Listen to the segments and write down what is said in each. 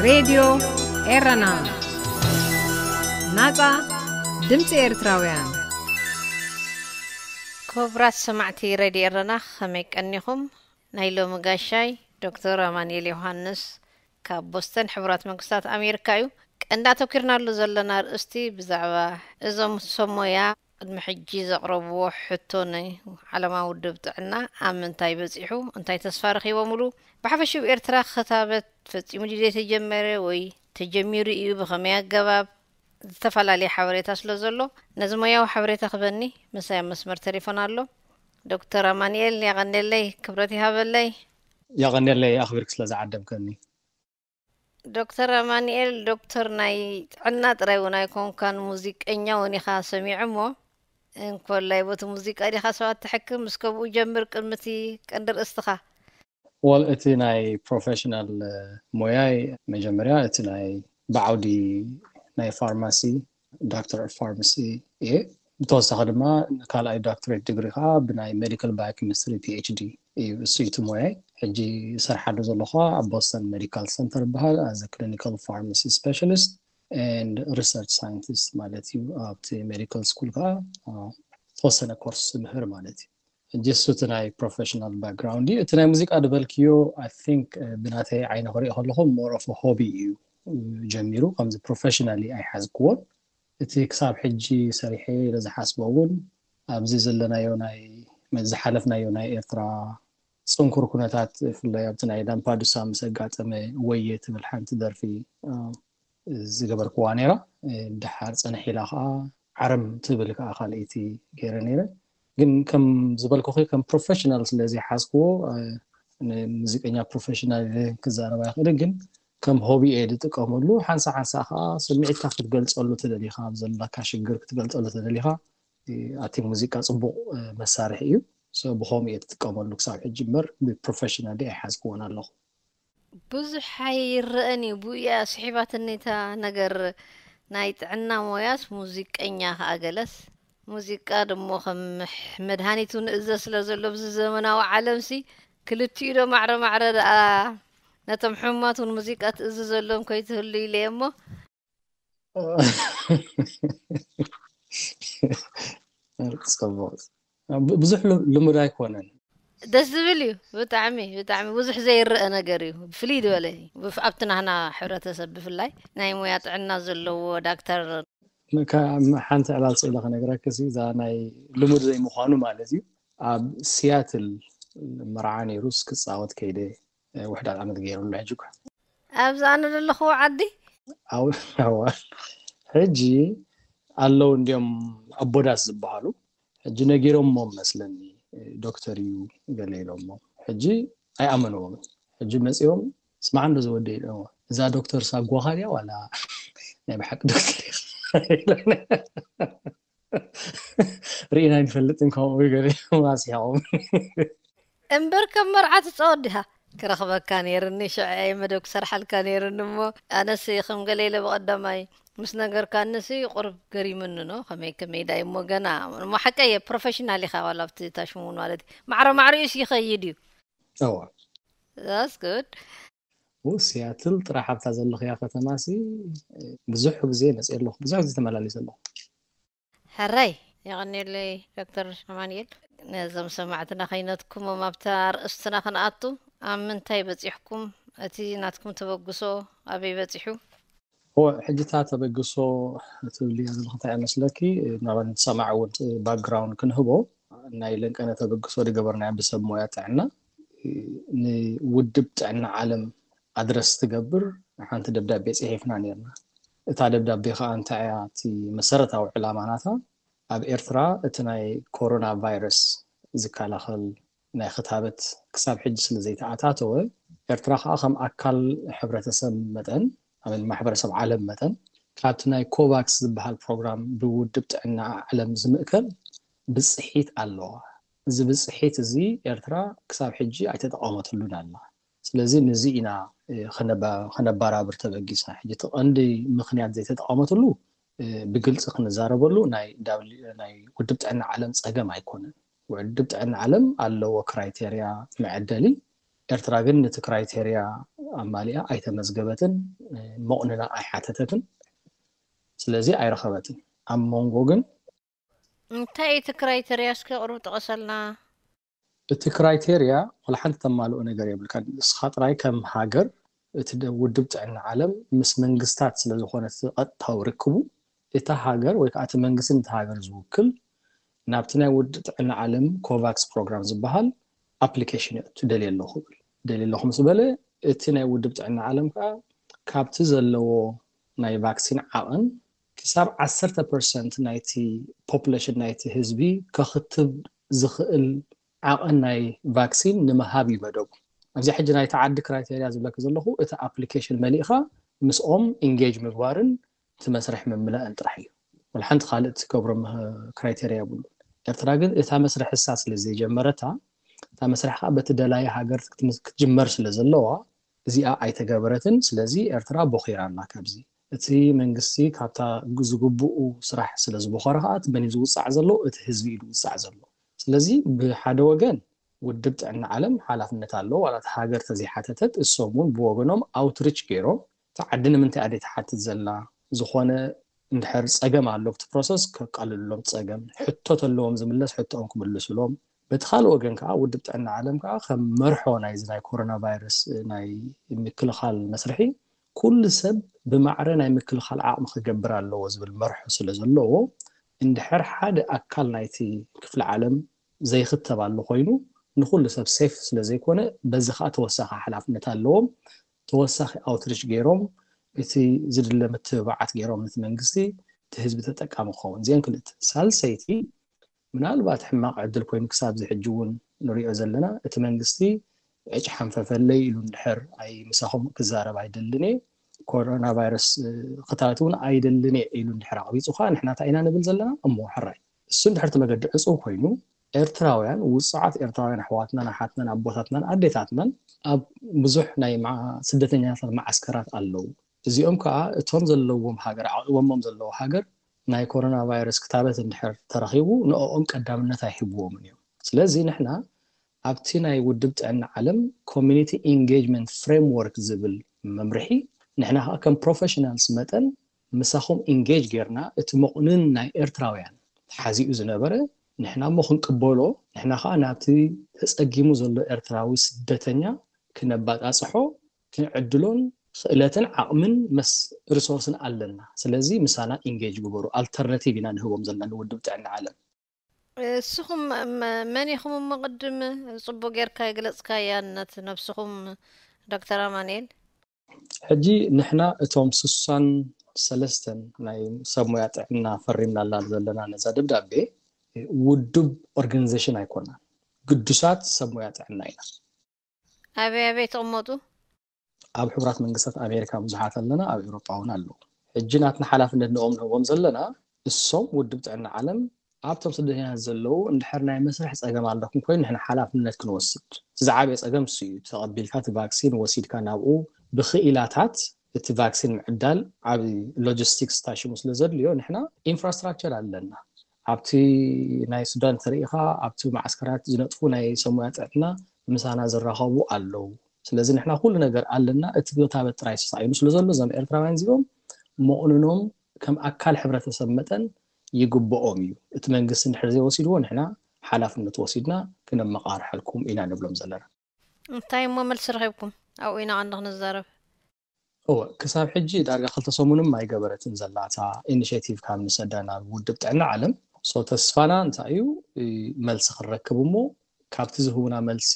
ሬድዮ ኤረና፣ ናጻ ድምጺ ኤርትራውያን። ክቡራት ሰማዕቲ ሬድዮ ኤረና፣ ከመይ ቀኒኹም? ናይ ሎሚ ጋሻይ ዶክተር ኣማኑኤል ዮሃንስ ካብ ቦስተን ሕቡራት መንግስታት ኣሜሪካ እዩ። ቀንዲ ኣተኲርናሉ ዘለና ኣርእስቲ ብዛዕባ እዞም ሰብ ሞያ ቅድሚ ሕጂ ዘቕረብዎ ሕቶ ንዓለማዊ ውድብ ጥዕና ኣብ ምንታይ በጺሑ፣ እንታይ ተስፋ ረኺቦምሉ፣ ብሓፈሽኡ ኤርትራ ክታበት ፈጺሙ ድዩ ዘይተጀመረ ወይ ተጀሚሩ እዩ፣ ብኸመይ ኣገባብ፣ ዝተፈላለየ ሓበሬታ ስለ ዘሎ ነዚ ሞያዊ ሓበሬታ ክበኒ ምሳይ ኣብ መስመር ተሌፎን ኣሎ። ዶክተር ኣማኑኤል የቐንየለይ፣ ክብረት ይሃበለይ። የቐንየለይ ኣኽቢርክ ስለ ዝዓደምከኒ። ዶክተር ኣማኑኤል ዶክተር ናይ ጥዕና ጥራይ እውን ኣይኮንካን፣ ሙዚቀኛ እውን ኢኻ ሰሚዑ እሞ እንኮላይ ቦቲ ሙዚቃ ዲኻ ሰባት ትሕክም ምስ ከምኡ ጀምር ቅድሚ እቲ ቀንዲ ርእስትኻ። ወል እቲ ናይ ፕሮፌሽናል ሞያይ መጀመርያ እቲ ናይ ብዓውዲ ናይ ፋርማሲ ዳክተር ኦፍ ፋርማሲ እየ። ብተወሳኺ ድማ ካልኣይ ዳክትሬት ዲግሪ ከዓ ብናይ ሜዲካል ባዮኬሚስትሪ ፒኤችዲ እዩ። እሱ እዩ እቲ ሞያይ። ሕጂ ሰርሓሉ ዘለኹ ኣብ ቦስተን ሜዲካል ሰንተር ይበሃል። ኣዘ ክሊኒካል ፋርማሲ ስፔሻሊስት ኤንድ ሪሰርች ሳይንቲስት ማለት እዩ። ኣብቲ ሜዲካል ስኩል ከዓ ተወሰነ ኮርስ ምህር ማለት እዩ። ጀስት እቲ ናይ ፕሮፌሽናል ባክግራውንድ እዩ። እቲ ናይ ሙዚቃ ዝበልክዮ ኣይ ቲንክ ብናተይ ዓይነ ክሪኦ ከለኹ ሞር ኦፍ ሆቢ እዩ ጀሚሩ። ከምዚ ፕሮፌሽናሊ ኣይሓዝክዎን። እቲ ክሳብ ሕጂ ሰሪሐ ኢለ ዝሓስቦ እውን ኣብዚ ዘለናዮ ናይ ዝሓለፍናዮ ናይ ኤርትራ ፅንኩር ኩነታት ብፍላይ ኣብቲ ናይ ላምፓዱሳ ምስ ኣጋጠመ ወየ ትብል ሓንቲ ደርፊ ዝገበርክዋ ነይራ። ድሓር ፅንሕ ኢላ ከዓ ዓረም ትብል ከዓ ካልኣይቲ ገይረ ነይረ። ግን ከም ዝበልኩኺ ከም ፕሮፌሽናል ስለ ዘይሓዝክዎ ንሙዚቀኛ ፕሮፌሽናል ክዛረብ ኣይኽእልን። ግን ከም ሆቢ እየ ዝጥቀመሉ። ሓንሳ ሓንሳ ከዓ ስምዒትካ ክትገልፀሉ ተደሊኻ፣ ኣብ ዘለካ ሽግር ክትገልፀሉ ተደሊኻ ኣቲ ሙዚቃ ፅቡቕ መሳርሒ እዩ። ብኸምኡ እየ ትጥቀመሉ ክሳብ ሕጂ እምበር ብፕሮፌሽናሊ ኣይሓዝክዎን ኣለኹ። ብዙሕ ኣይረአን እዩ። ብኡ እያ ስሒባትኒ እታ ነገር ናይ ጥዕና ሞያስ ሙዚቀኛ ከዓ ገለስ። ሙዚቃ ድሞ ከም መድሃኒት እውን እዘ ስለ ዘሎ ብዚ ዘመናዊ ዓለምሲ ክልቲኡ ዶ ማዕረ ማዕረ ደኣ ነቶም ሕሙማት እውን ሙዚቃ ትእዝዘሎም ከይትህሉ ኢለ እየ እሞ። ጽቡቕ። ብዙሕ ልሙድ ኣይኮነን። ደስ ዝብል እዩ ብጣዕሚ ብጣዕሚ ብዙሕ ዘይረአ ነገር እዩ። ፍልይ ዝበለ እዩ ኣብቲ ናህና ሕብረተሰብ ብፍላይ ናይ ሞያ ጥዕና ዘለዎ ዳክተር። ሓንቲ ዕላል ስእለ ከነግረክሲ እዛ ናይ ልሙድ ዘይምዃኑ ማለት እዩ። ኣብ ሲያትል መርዓ ነይሩስ ክፃወት ከይደ ውሕዳት ዓመት ገይሩሉ ሕጂ እኳ ኣብዚ ኣነ ዘለኹዎ ዓዲ ሕጂ ኣለዉ እንዲኦም ኣቦዳስ ዝበሃሉ ሕጂ ነጊሮሞ መስለኒ ዶክተር እዩ ገለ ኢሎሞ ሕጂ ኣይኣመንዎምን። ሕጂ መፂኦም ስማዕ እንዶ ዝወደ ኢሎሞ እዛ ዶክተር ሳጓኻ ድያ ዋላ ናይ ብሓቂ ዶክተር ርኢና ኣይንፈልጥን ከምኡ ገለ ኣስሒቖም። እምበር ከም መርዓ ትፃወት ዲኻ? ክረኽበካ ነይርኒ ሽዐ መደብ ክሰርሓልካ ነይርኒ እሞ ኣነስ ከም ገለ ኢለ ብቐዳማይ ምስ ነገርካንሲ ቁርብ ገሪምኒ ኖ ከመይ ከመይ ዳይ እሞ ገና እሞ ሓቀየ ፕሮፌሽናል ኢኻ ዋላ ኣብቲ ታሽሙን ማለት እዩ ማዕረ ማዕሪኡስ ይኸይድ እዩ። እዋ That's good. ሲያትል ጥራሕ ኣብታ ዘለኽያ ከተማሲ ብዙሕ ግዜ መፅእ ኣለኹ፣ ብዙሕ ግዜ ተመላሊሰ ኣለኹ። ሕራይ የቐንየለይ ዶክተር ኣማንኤል። ነዞም ሰማዕትና ከይነትኩሞም ኣብታ ኣርእስትና ክንኣቱ ኣብ ምንታይ በፂሕኩም? እቲ ናትኩም ተበግሶ ኣበይ በፂሑ? ሕጂ እታ ተበግሶ ትብልያ ዘለኹ እንታይ መስለኪ? ናባት ንሰማዕ እውን ባክግራውንድ ክንህቦ ናይ ለንቀነ ተበግሶ ዝገበርናዮ ብሰብ ሞያ ጥዕና ንውድብ ጥዕና ዓለም ኣድረስ ትገብር ሓንቲ ደብዳቤ ፅሒፍና ነርና። እታ ደብዳቤ ከዓ እንታይ እያ እቲ መሰረታዊ ዕላማ ናታ? ኣብ ኤርትራ እቲ ናይ ኮሮና ቫይረስ ዝከላኸል ናይ ክታበት ክሳብ ሕጂ ስለ ዘይተኣታተወ ኤርትራ ከዓ ከም ኣካል ሕብረተሰብ መጠን ኣበን ማሕበረሰብ ዓለም መጠን ካብቲ ናይ ኮቫክስ ዝበሃል ፕሮግራም ብውድብ ጥዕና ዓለም ዝምእከል ብፅሒት ኣለዋ። እዚ ብፅሒት እዚ ኤርትራ ክሳብ ሕጂ ኣይተጠቐመትሉን ኣላ። ስለዚ ንዚ ኢና ከነባራብር ተበጊስና። ሕጂ እቲ ቀንዲ ምክንያት ዘይተጠቐመትሉ ብግልፂ ክንዛረበሉ ናይ ውድብ ጥዕና ዓለም ፀገም ኣይኮነን። ውድብ ጥዕና ዓለም ኣለዎ ክራይቴርያ መዐደሊ ኤርትራ ግን ነቲ criteria ኣማሊኣ ኣይተመዝገበትን፣ መቑንና ኣይሓተተትን። ስለዚ ኣይረኸበትን። ኣብ መንጎ ግን እንታይ እቲ criteria እስኪ ቅሩብ ጥቀሰልና። እቲ criteria ዋላ ሓንቲ ተማልኦ ነገር የብልካ። ንስኻ ጥራይ ከም ሃገር እቲ ውድብ ጥዕና ዓለም ምስ መንግስታት ስለዝኾነ እቲ ቀጥታዊ ርክቡ፣ እታ ሃገር ወይ ከዓ እቲ መንግስቲ ነቲ ሃገር ዝውክል ናብቲ ናይ ውድብ ጥዕና ዓለም ኮቫክስ ፕሮግራም ዝበሃል ኣፕሊኬሽን እየቱ ደልየ ኣለኹ ብል። ደልየ ኣለኹ ምስ በለ እቲ ናይ ውድብ ጥዕና ዓለም ከዓ ካብቲ ዘለዎ ናይ ቫክሲን ዓቐን ክሳብ ዓሰርተ ፐርሰንት ናይቲ ፖፑሌሽን ናይቲ ህዝቢ ከኽትብ ዝኽእል ዓቐን ናይ ቫክሲን ንምሃብ እዩ መደቡ። ኣብዚ ሕጂ ናይቲ ዓዲ criteria ዝብለኪ ዘለኹ እቲ ኣፕሊኬሽን መሊእኻ ምስኦም ኢንጌጅ ምግባርን እቲ መስርሕ ምምላእን ጥራሕ እዩ። ወላ ሓንቲ ካልእ ትገብሮ criteria የብሉ። ኤርትራ ግን እታ መስርሕ እሳ ስለ ዘይጀመረታ እታ መስርሕ ከዓ በቲ ደላይ ሃገር ክትጅመር ስለ ዘለዋ እዚኣ ኣይተገበረትን። ስለዚ ኤርትራ ቦኺራ ኣላ ካብዚ። እቲ መንግስቲ ካብታ ዝግብኡ ስራሕ ስለ ዝቦኸረ ከዓ እቲ መን ዝውፃዕ ዘሎ እቲ ህዝቢ እዩ ዝውፃዕ ዘሎ። ስለዚ ብሓደ ወገን ውድብ ጥዕና ዓለም ሓላፍነት ኣለዎ። ዋላ እቲ ሃገር ተዘይሓተተት እሶም እውን ብወገኖም ኣውትሪች ገይሮም እቲ ዓዲ ንምንታይ ኣደ ትሓትት ዘላ ዝኾነ እንድሕር ፀገም ኣሎ ብቲ ፕሮሰስ ከቃልሉሎም ፀገም ሕቶ ተለዎም ዝምለስ ሕቶኦም ክምልሱሎም። በቲ ካልእ ወገን ከዓ ውድብ ጥዕና ዓለም ከዓ ከም መርሖ ናይዚ ናይ ኮሮና ቫይረስ ናይ ምክልኻል መስርሒ ኩሉ ሰብ ብማዕረ ናይ ምክልኻል ዓቕሚ ክገብር ኣለዎ ዝብል መርሖ ስለ ዘለዎ እንድሕር ሓደ ኣካል ናይቲ ክፍሊ ዓለም ዘይኽተብ ኣሎ ኮይኑ ንኩሉ ሰብ ሴፍ ስለ ዘይኮነ በዚ ከዓ ተወሳኺ ሓላፍነት ኣለዎም። ተወሳኺ ኣውትሪች ገይሮም እቲ ዝድለ ምትብባዓት ገይሮም ነቲ መንግስቲ እቲ ህዝቢ ተጠቃሚ ክኸውን እዚአን ክልተ። ሳልሰይቲ ምናልባት ሕማቕ ዕድል ኮይኑ ክሳብ እዚ ሕጂ እውን ንሪኦ ዘለና እቲ መንግስቲ ዕጭ ሓንፈፈለይ ኢሉ እንድሕር ኣይ ምሳኹም ክዛረብ ኣይደልን እየ፣ ኮሮና ቫይረስ ክታበት እውን ኣይደልን እየ ኢሉ እንድሕር ኣቕቢፁ ከዓ ንሕና እንታይ ኢና ንብል ዘለና? እሞ ሕራይ እሱ እንድሕር እቲ መገዲ ዕፁው ኮይኑ ኤርትራውያን ውፁዓት ኤርትራውያን ኣሕዋትናን ኣሓትናን ኣቦታትናን ኣዴታትናን ኣብ ብዙሕ ናይ ስደተኛታት መዓስከራት ኣለዉ። እዚኦም ከዓ እቶም ዘለዎም ሃገር ዓቂቦሞም ዘለዉ ሃገር ናይ ኮሮና ቫይረስ ክታበት እንድሕር ተረኺቡ ንኦም ቀዳምነት ኣይህብዎምን እዮም። ስለዚ ንሕና ኣብቲ ናይ ውድብ ጥዕና ዓለም ኮሚኒቲ ኢንጌጅመንት ፍሬምወርክ ዝብል መምርሒ ንሕና ከዓ ከም ፕሮፌሽናልስ መጠን ምሳኹም ኢንጌጅ ጌርና እቲ መቑንን ናይ ኤርትራውያን ተሓዚኡ ዝነበረ ንሕና እሞ ክንቅበሎ ንሕና ከዓ ናብቲ ተፀጊሙ ዘሎ ኤርትራዊ ስደተኛ ክነባፃፅሖ ክንዕድሎን ክእለትን ዓቕምን መስ ሪሶርስን ኣለና። ስለዚ ምሳና ኢንጌጅ ግበሩ። ኣልተርናቲቭ ኢና ንህቦም ዘለና ንውድብ ጥዕና ዓለም። እስኹም መን ኢኹም እሞ ቅድም ፅቡቅ ጌርካ ይግለፅካያ ነት ነብስኹም ዶክተር ኣማንኤል? ሕጂ ንሕና እቶም ስሳን ሰለስተን ናይ ሰብ ሞያ ጥዕና ፈሪምናላ ዘለና ነዛ ደብዳቤ ውድብ ኦርጋኒዜሽን ኣይኮናን፣ ግዱሳት ሰብ ሞያ ጥዕና ኢና። ኣበይ ኣበይ ትቕመጡ? ኣብ ሕቡራት መንግስታት ኣሜሪካ ብዙሓት ኣለና፣ ኣብ ኤውሮጳ እውን ኣለዉ። ሕጂ ናትና ሓላፍነት ንኦም ንህቦም ዘለና እሶም ውድብ ጥዕና ዓለም ኣብቶም ስደተኛታት ዘለዉ እንድሕር ናይ መስርሕ ፀገም ኣለኩም ኮይኑ ንሕና ሓላፍነት ክንወስድ እቲ ዝዓበየ ፀገም እሱ እዩ። ተቐቢልካ እቲ ቫክሲን ወሲድካ ናብኡ ብክኢላታት እቲ ቫክሲን ምዕዳል ዓብ ሎጂስቲክስ ታሽሙ ስለ ዘድልዮ ንሕና ኢንፍራስትራክቸር ኣለና። ኣብቲ ናይ ሱዳን ተሪኢኻ ኣብቲ ማዓስከራት ዝነጥፉ ናይ ሰብ ሞያ ጥዕና ምሳና ዝራኸቡ ኣለዉ። ስለዚ ንሕና ኩሉ ነገር ኣለና። እቲ ክታበት ጥራይ ተሳኢኑ ስለ ዘሎ እዞም ኤርትራውያን እዚኦም መቑንኖም ከም ኣካል ሕብረተሰብ መጠን ይግብኦም እዩ። እቲ መንግስቲ እንድሕር ዘይወሲድዎ ንሕና ሓላፍነት ወሲድና ክነመቓርሐልኩም ኢና ንብሎም ዘለና። እንታይ እሞ መልሲ ረኺብኩም? ኣብኡ ኢና ቀንዲ ክንዛረብ። እወ ክሳብ ሕጂ ዳርጋ ክልተ ሰሙንም ኣይገበረትን ዘላ እታ ኢኒሽቲቭ ካብ ንሰዳ ናብ ውድብ ጥዕና ዓለም። ሶ ተስፋና እንታይ እዩ? መልሲ ክንረክብ እሞ ካብቲ ዝህቡና መልሲ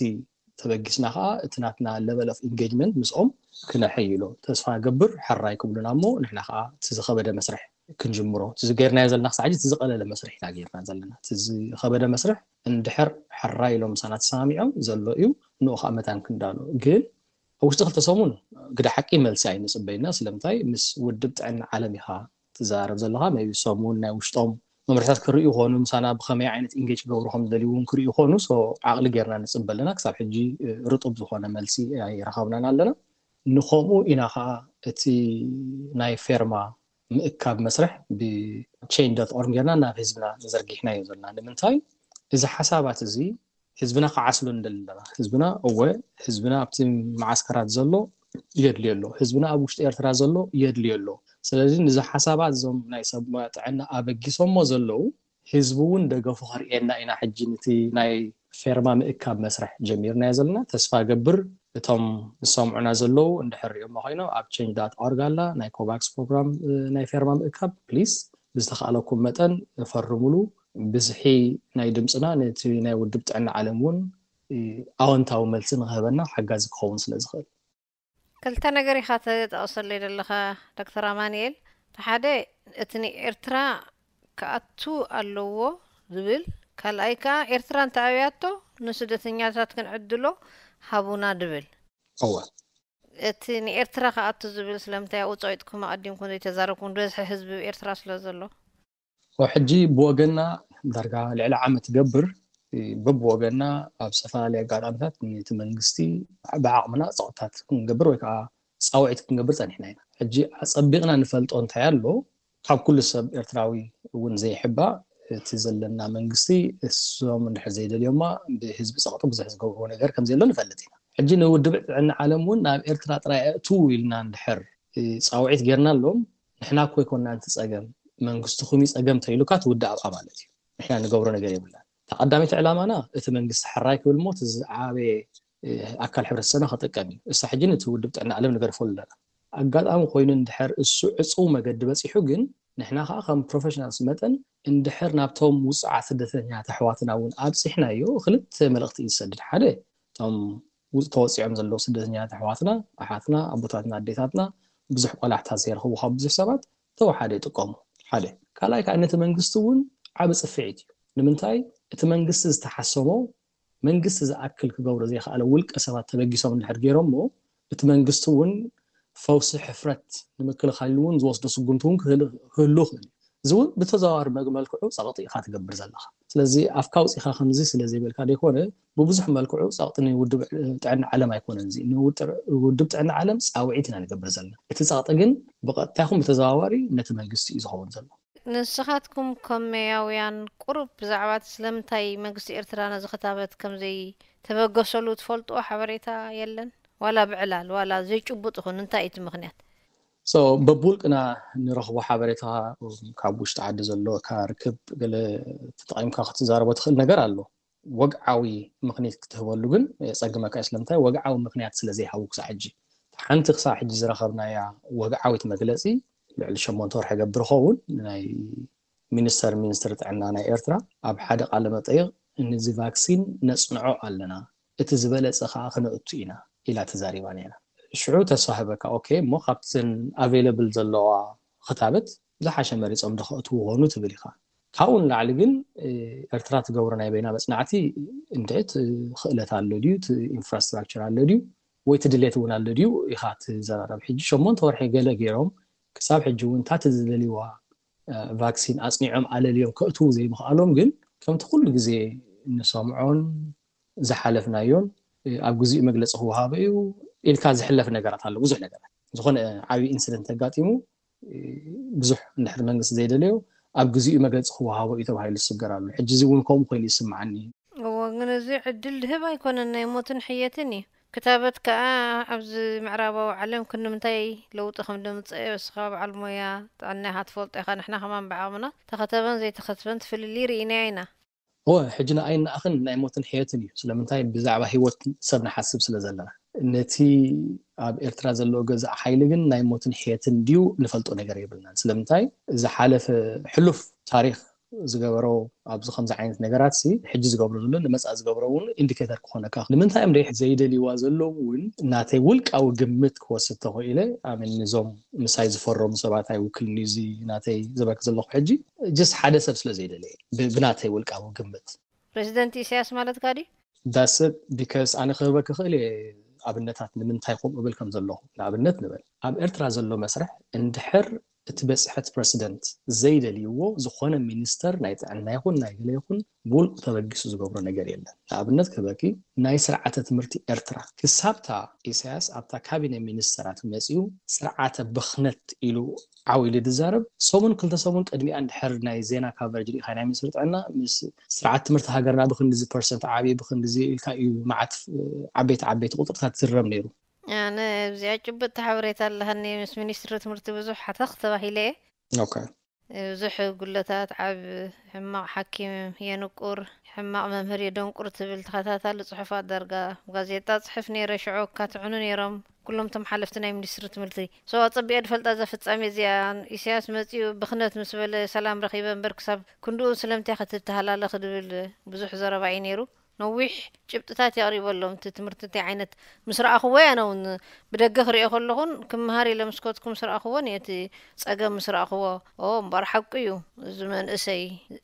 ተበጊስና ከዓ እቲ ናትና ለቨል ኦፍ ኢንጌጅመንት ምስኦም ክነሐይሎ ተስፋ ገብር። ሕራይ ክብሉና እሞ ንሕና ከዓ እቲ ዝኸበደ መስርሕ ክንጅምሮ እቲ ዝገርናዮ ዘለና ክሳዕ ሕጂ እቲ ዝቐለለ መስርሕ ኢና ጌርና ዘለና። እቲ ዝኸበደ መስርሕ እንድሕር ሕራይ ኢሎም ምሳና ተሰማሚዖም ዘሎ እዩ ንኡ ከዓ መታን ክንዳሎ። ግን ኣብ ውሽጢ ክልተ ሰሙን ግደ ሓቂ መልሲ ኣይንፅበይና። ስለምንታይ ምስ ውድብ ጥዕና ዓለም ኢኻ ትዘራረብ ዘለኻ። ቢ ሰሙን ናይ ውሽጦም መምርሕታት ክርእዩ ይኾኑ፣ ምሳና ብኸመይ ዓይነት ኢንጌጅ ክገብሩ ከም ዝደልዩ እውን ክርእዩ ይኾኑ። ሶ ዓቕሊ ጌርና ንፅበ ኣለና። ክሳብ ሕጂ ርጡብ ዝኾነ መልሲ ኣይረኸብናን ኣለና። ንኸምኡ ኢና ከዓ እቲ ናይ ፌርማ ምእካብ መስርሕ ብቼን ዶት ኦርግ ጌርና ናብ ህዝብና ዘርጊሕናዮ ዘለና። ንምንታይ እዚ ሓሳባት እዚ ህዝብና ክዓስሎ ንደሊ ኣለና። ህዝብና እወ፣ ህዝብና ኣብቲ መዓስከራት ዘሎ የድልዮ ኣሎ፣ ህዝብና ኣብ ውሽጢ ኤርትራ ዘሎ የድልዮ ኣሎ። ስለዚ ንዚ ሓሳባት እዞም ናይ ሰብ ሞያ ጥዕና ኣበጊሶሞ ዘለዉ ህዝቢ እውን ደገፉ ከርእየና ኢና። ሕጂ ነቲ ናይ ፌርማ ምእካብ መስርሕ ጀሚርናዮ ዘለና። ተስፋ ገብር እቶም ዝሰምዑና ዘለዉ እንድሕር ሪኦሞ ኮይኖም ኣብ ቸንጅ ዳት ኦርግ ኣላ ናይ ኮቫክስ ፕሮግራም ናይ ፌርማ ምእካብ ፕሊስ ብዝተኻእለኩም መጠን ፈርሙሉ። ብዝሒ ናይ ድምፅና ነቲ ናይ ውድብ ጥዕና ዓለም እውን ኣወንታዊ መልሲ ንክህበና ሓጋዚ ክኸውን ስለ ዝኽእል። ክልተ ነገር ኢኻ ተጠቕሰለይ ዘለኻ ዶክተር ኣማንኤል። እቲ ሓደ እቲ ንኤርትራ ክኣቱ ኣለዎ ዝብል፣ ካልኣይ ከዓ ኤርትራ እንተኣብያቶ ንስደተኛታት ክንዕድሎ ሃቡና ድብል። እወ እቲ ንኤርትራ ክኣቱ ዝብል ስለምንታይ ኣብኡ ፀቂጥኩም ኣቐዲምኩም ዘይተዛረብኩም? ዝበዝሐ ህዝቢ ኤርትራ ስለ ዘሎ። ሕጂ ብወገና ዳርጋ ልዕሊ ዓመት ገብር በብወገና ኣብ ዝተፈላለየ ኣጋጣሚታት ነቲ መንግስቲ ብዓቕምና ፀቕጥታት ክንገብር ወይ ከዓ ፃውዒት ክንገብር ፀኒሕና ኢና። ሕጂ ኣፀቢቕና ንፈልጦ እንታይ ኣሎ፣ ካብ ኩሉ ሰብ ኤርትራዊ እውን ዘይሕባእ እቲ ዘለና መንግስቲ እሶም እንድሕር ዘይደልዮማ ብህዝቢ ፀቕጢ ብዙሕ ዝገብርዎ ነገር ከም ዘየሎ ንፈልጥ ኢና። ሕጂ ንውድብ ጥዕና ዓለም እውን ናብ ኤርትራ ጥራይ ኣእትዉ ኢልና እንድሕር ፃውዒት ጌርናሎም ንሕና እኮ ኣይኮንና እቲ ፀገም መንግስትኹም እዩ ፀገም ተይሉካ ትውድእ ኣብኣ ማለት እዩ። ንሕና ንገብሮ ነገር የብልናን። እታ ቀዳመይቲ ዕላማና እቲ መንግስቲ ሕራይ ክብል እሞ እቲ ዝዓበየ ኣካል ሕብረተሰብና ክጥቀም እዩ። እሳ ሕጂ ነቲ ውድብ ጥዕና ዓለም ንገድፈሉ ኣለና። ኣጋጣሚ ኮይኑ እንድሕር እሱ ዕፁው መገዲ በፂሑ ግን ንሕና ከዓ ከም ፕሮፌሽናልስ መጠን እንድሕር ናብቶም ውፁዓት ስደተኛታት ኣሕዋትና እውን ኣብፂሕናዮ ክልተ መልእኽቲ እዩ ዝሰድድ። ሓደ እቶም ተወፂዖም ዘለዉ ስደተኛታት ኣሕዋትና ኣሓትና ኣቦታትና ኣዴታትና ብዙሕ ቆላሕታ ዘይረኽቡ ካብ ብዙሕ ሰባት ተወሓደ ይጥቀሙ ሓደ ካልኣይ ከዓ ነቲ መንግስቲ እውን ዓብ ፅፍዒት እዩ ንምንታይ እቲ መንግስቲ ዝተሓሰሞ መንግስቲ ዝኣክል ክገብሮ ዘይከኣለ ውልቀ ሰባት ተበጊሶም እንድሕር ገይሮሞ እቲ መንግስቲ እውን ፈውሲ ሕፍረት ንምክልኻል እውን ዝወስዶ ስጉምቲ እውን ክህሉ ክእል እዚ እውን ብተዘዋዋሪ መልክዑ ፀቕጢ ኢካ ትገብር ዘለካ ስለዚ ኣፍካ ውፂካ ከምዚ ስለ ዘይበልካ ዘይኮነ ብብዙሕ መልክዑ ፀቕጢ ንውድብ ጥዕና ዓለም ኣይኮነን እዚ ንውድብ ጥዕና ዓለም ፃውዒት ኢና ንገብር ዘለና እቲ ፀቕጢ ግን ብቐጥታ ይኹን ብተዘዋዋሪ ነቲ መንግስቲ እዩ ዝኸውን ዘሎ ንስኻትኩም ከም መያውያን ቁሩብ ብዛዕባ እቲ ስለምንታይ መንግስቲ ኤርትራ ነዚ ክታበት ከም ዘይተበገሰሉ ትፈልጥዎ ሓበሬታ የለን? ዋላ ብዕላል ዋላ ዘይጭቡጥ ይኹን እንታይ እዩ እቲ ምኽንያት? So በብውልቅና ንረኽቦ ሓበሬታ ካብ ውሽጢ ዓዲ ዘሎ ካብ ርክብ ገለ ተጠቒምካ ክትዛረቦ ትኽእል ነገር ኣሎ። ወግዓዊ ምኽንያት ክትህበሉ ግን የጸግመካ እዩ። ስለምንታይ? ወግዓዊ ምኽንያት ስለ ዘይሃቡ ክሳዕ ሕጂ። ሓንቲ ክሳዕ ሕጂ ዝረኸብናያ ወግዓዊት መግለጺ ልዕሊ ሸሞንተ ወርሒ ገብር ኸውን ናይ ሚኒስተር ሚኒስትሪ ጥዕና ናይ ኤርትራ ኣብ ሓደ ቃለ መጠይቕ ነዚ ቫክሲን ነጽንዖ ኣለና፣ እቲ ዝበለጸ ከኣ ክነእቱ ኢና ኢላ ተዛሪባ ነይራ። ሽዑ ተስፋ ህበካ ኦኬ እሞ ካብተን ኣቬለብል ዘለዋ ክታበት ዝሓሸ መሪጾም ዶ ከእትዉ ኾኑ ትብል ኢኻ። ካብኡ ንላዕሊ ግን ኤርትራ ትገብሮ ናይ በይና መጽናዕቲ እንድዒ እቲ ክእለት ኣሎ ድዩ፣ እቲ ኢንፍራስትራክቸር ኣሎ ድዩ ወይ እቲ ድሌት እውን ኣሎ ድዩ ኢኻ ትዘራረብ። ሕጂ ሸሞንተ ወርሒ ገለ ገይሮም ክሳብ ሕጂ እውን እታ እቲ ዝደልይዋ ቫክሲን ኣጽኒዖም ኣለልዮም ከእትዉ ዘይምኽኣሎም ግን ከምቲ ኩሉ ግዜ እንሰምዖን ዝሓለፍናዮን ኣብ ግዚኡ መግለፂ ክወሃቦ እዩ ኢልካ ዝሕለፍ ነገራት ኣሎ ብዙሕ ነገራት ዝኾነ ዓብዪ ኢንስደንት ተጋጢሙ ብዙሕ እንድሕር መንግስቲ ዘይደለዮ ኣብ ግዚኡ መግለፂ ክወሃቦ እዩ ተባሂሉ ዝስገር ኣሎ ሕጂ እዚ እውን ከምኡ ኮይኑ ይስምዓኒ እዎ ግን እዚ ዕድል ድህብ ኣይኮነን ናይ ሞትን ሕየትን እዩ ክታበት ከኣ ኣብዚ ምዕራባዊ ዓለም ክንምንታይ ለውጢ ከም ደምፀ እስኻ በዓል ሞያ ጥዕና ኢኻ ትፈልጦ ኢኻ ንሕና ከማን ብዓቕምና ተኸተበን ዘይተኸትበን ትፍልልይ ርኢናዮ ኢና እወ ሕጂ ንኣይን ንኣኽን ናይ ሞትን ሕየትን እዩ ስለምንታይ ብዛዕባ ሂወት ሰብ ንሓስብ ስለ ዘለና ነቲ ኣብ ኤርትራ ዘለዎ ገዛእ ሓይሊ ግን ናይ ሞትን ሕየትን ድዩ ንፈልጦ ነገር የብልናን ስለምንታይ ዝሓለፈ ሕሉፍ ታሪክ ዝገበሮ ኣብዚ ከምዚ ዓይነት ነገራት ሲ ሕጂ ዝገብሮ ዘሎ ንመፃኢ ዝገብሮ እውን ኢንዲኬተር ክኾነካ ንምንታይ እዮም ደይ ዘይደልይዋ ዘለዉ እውን ናተይ ውልቃዊ ግምት ክወስድ ተኽኢለ ኣምን ንዞም ምሳይ ዝፈረሙ ሰባት ኣይውክልን እዩ እዚ ናተይ ዝበክ ዘለኹ ሕጂ ጀስት ሓደ ሰብ ስለ ዘይደለየ ብናተይ ውልቃዊ ግምት ፕሬዚደንት ኢሳያስ ማለት ጋዲ ዳስብ ቢካስ ኣነ ክህበክ ክእል እየ ኣብነታት ንምንታይ ከምኡ ብል ከም ዘለኹ ንኣብነት ንበል ኣብ ኤርትራ ዘሎ መስርሕ እንድሕር እቲ በፅሐት ፕረሲደንት ዘይደልይዎ ዝኾነ ሚኒስተር ናይ ጥዕና ይኹን ናይ ገለ ይኹን ብውልቁ ተበጊሱ ዝገብሮ ነገር የለን። ንኣብነት ክህበኪ፣ ናይ ስርዓተ ትምህርቲ ኤርትራ ክሳብታ ኢሳያስ ኣብታ ካቢነ ሚኒስተራት መፂኡ ስርዓተ ብኽነት ኢሉ ዓው ኢሉ ዝዛረብ፣ ሰሙን ክልተ ሰሙን ቅድሚኣ እንድሕር ናይ ዜና ካቨሬጅ ርኢኻ ናይ ሚኒስትሪ ጥዕና ምስ ስርዓት ትምህርቲ ሃገርና ብክንድዚ ፐርሰንት ዓብዩ ብክንድዚ ኢልካ እዩ መዓት ዓበይቲ ዓበይቲ ቁፅርታት ዝረብ ነይሩ። ኣነ እዚኣ ጭብጥቲ ሓበሬታ ኣለሃኒ። ምስ ሚኒስትሪ ትምህርቲ ብዙሕ ሓተኽ ተባሂለ እየ። ኦኬ። ብዙሕ ጉለታት፣ ዓብ ሕማቕ ሓኪም የንቁር፣ ሕማቕ መምህር የደንቁር ትብል ተኸታታሊ ጽሑፋት ዳርጋ ጋዜጣ ጽሕፍ ነይረ። ሽዑ ካትዕኑ ነይሮም ኩሎም እቶም ሓለፍቲ ናይ ሚኒስትሪ ትምህርቲ። ሰው ኣጸቢቐ ድፈልጣ እዛ ፍጻሜ እዚኣ። ኢሳያስ መጺኡ ብኽነት ምስ በለ ሰላም ረኺበ እምበር ክሳብ ክንድኡ ስለምንታይ ክትተሃላለኽ ድብል ብዙሕ ዘረባ እዩ ነይሩ። ነዊሕ ጭብጥታት የቕሪበሎም። እቲ ትምህርቲ እንታይ ዓይነት ምስ ረኣኽዎ እየ፣ ኣነ እውን ብደገ ክሪኦ ከለኹን ክመሃር ኢለ ምስ ከድኩ ምስ ረኣኽዎን እየ እቲ ጸገም ምስ ረኣኽዎ። ኦ እምበኣር ሓቁ እዩ፣ እዚ መንእሰይ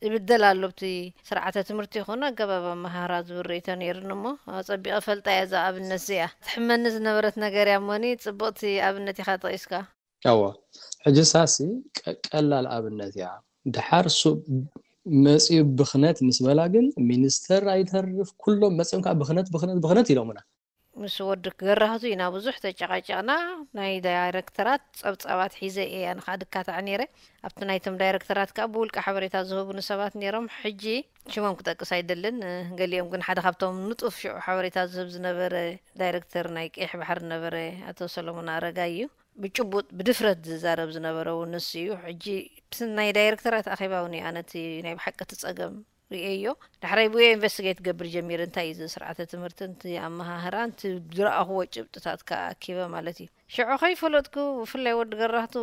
ይብደል ኣሎ ብቲ ስርዓተ ትምህርቲ ይኹን ኣገባብ ኣመሃህራ ዝብል ርእይቶ ነይሩኒ እሞ ኣጸቢቐ ፈልጣ እየ እዛ ኣብነት እዚኣ። ትሕመኒ ዝነበረት ነገር እያ እሞኒ ጽብቕቲ ኣብነት ኢኻ ጠቒስካ። እወ፣ ሕጂ ሳሲ ቀ- ቀላል ኣብነት እያ። ድሓር ሱ መፂኡ ብኽነት ምስ በላ ግን ሚኒስተር ኣይተርፍ ኩሎም መፂኦም ከዓ ብኽነት ብኽነት ብኽነት ኢሎምና። ምስ ወዲ ገራህቱ ኢና ብዙሕ ተጨቃጨቅና። ናይ ዳይረክተራት ጸብጻባት ሒዘ እየ ኣነ ከዓ ድካታዕ ነይረ። ኣብቲ ናይቶም ዳይረክተራት ከዓ ብውልቂ ሓበሬታ ዝህቡኒ ሰባት ነይሮም። ሕጂ ሽሞም ክጠቅስ ኣይደልን። ገሊኦም ግን ሓደ ካብቶም ንጡፍ ሽዑ ሓበሬታ ዝህብ ዝነበረ ዳይረክተር ናይ ቀይሕ ባሕሪ ነበረ ኣቶ ሰሎሞን ኣረጋይ እዩ። ብጭቡጥ ብድፍረት ዝዛረብ ዝነበረ እውን ንሱ እዩ። ሕጂ ብስም ናይ ዳይረክተራት ኣኼባ እውን እዩ ኣነ እቲ ናይ ብሓቂ እቲ ጸገም ርእየዮ። ዳሕራይ ብኡ ኢንቨስቲጌት ገብር ጀሚረ። እንታይ እዩ እዚ ስርዓተ ትምህርቲ፣ እቲ ኣመሃህራ፣ እቲ ዝረኣኽዎ ጭብጥታት ከኣ ኣኪበ ማለት እዩ። ሽዑ ከይፈለጥኩ ብፍላይ ወዲ ገራህቱ